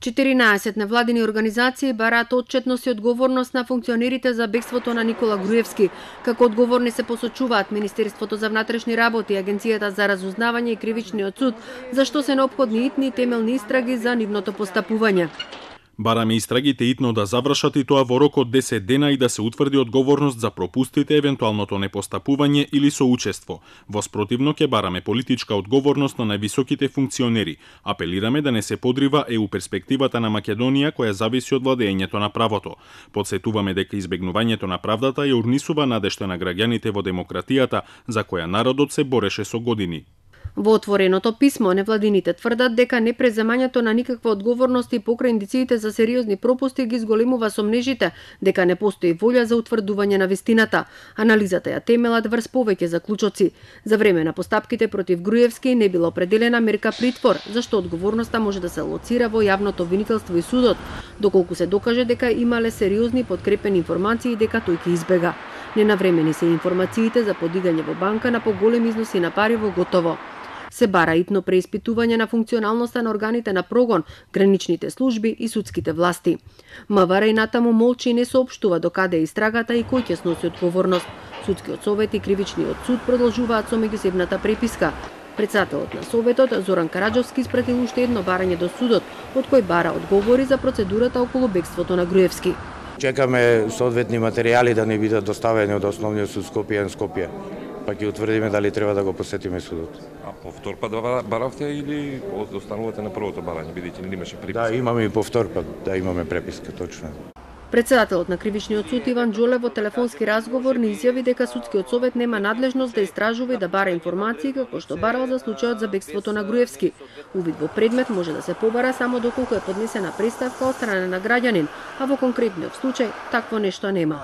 14 невладини организации бараат отчетност и одговорност на функционерите за бегството на Никола Груевски. Како одговорни се посочуваат Министерството за внатрешни работи, Агенцијата за разузнавање и Кривичниот суд, зашто се неопходни итни и темелни истраги за нивното постапување. Бараме истрагите итно да завршат и тоа во рок од 10 дена и да се утврди одговорност за пропустите, евентуалното непостапување или соучество. Во спротивно ќе бараме политичка одговорност на највисоките функционери. Апелираме да не се подрива ЕУ перспективата на Македонија која зависи од владењето на правото. Подсетуваме дека избегнувањето на правдата ја урнисува надежта на граѓаните во демократијата за која народот се бореше со години. Во отвореното писмо, невладините тврдат дека непреземањето на никаква одговорност и покрај индициите за сериозни пропусти ги зголемува сомнежите дека не постои волја за утврдување на вистината. Анализата ја темелат врз повеќе заклучоци. За време на постапките против Груевски не била определена мерка притвор, зашто одговорноста може да се лоцира во јавното обвинителство и судот, доколку се докаже дека имале сериозни подкрепени информации дека тој ќе избега. Ненавремени се информациите за подигање во банка на поголеми износи на пари во готово. Се бара итно преиспитување на функционалноста на органите на прогон, граничните служби и судските власти. МВР и натаму молчи и не соопштува докаде е истрагата и кој ќе сноси одговорност. Судскиот совет и Кривичниот суд продолжуваат со меѓусебната преписка. Председателот на советот Зоран Караџовски испратил уште едно барање до судот, од кој бара одговори за процедурата околу бегството на Груевски. Чекаме соодветни материјали да не бидат доставени од основниот суд Скопје, па ќе утврдиме дали треба да го посетиме судот. А повтор пат баравте или останувате на првото барање, бидејќи не имаше преписка? Да, имаме и повтор пат, да имаме преписка, точно. Председателот на Кривичниот суд Иван Џолев во телефонски разговор не изјави дека судскиот совет нема надлежност да истражува и да бара информации како што барал за случајот за бегството на Груевски. Увид во предмет може да се побара само доколку е поднесена преставка од страна на граѓанин, а во конкретниот случај такво нешто нема.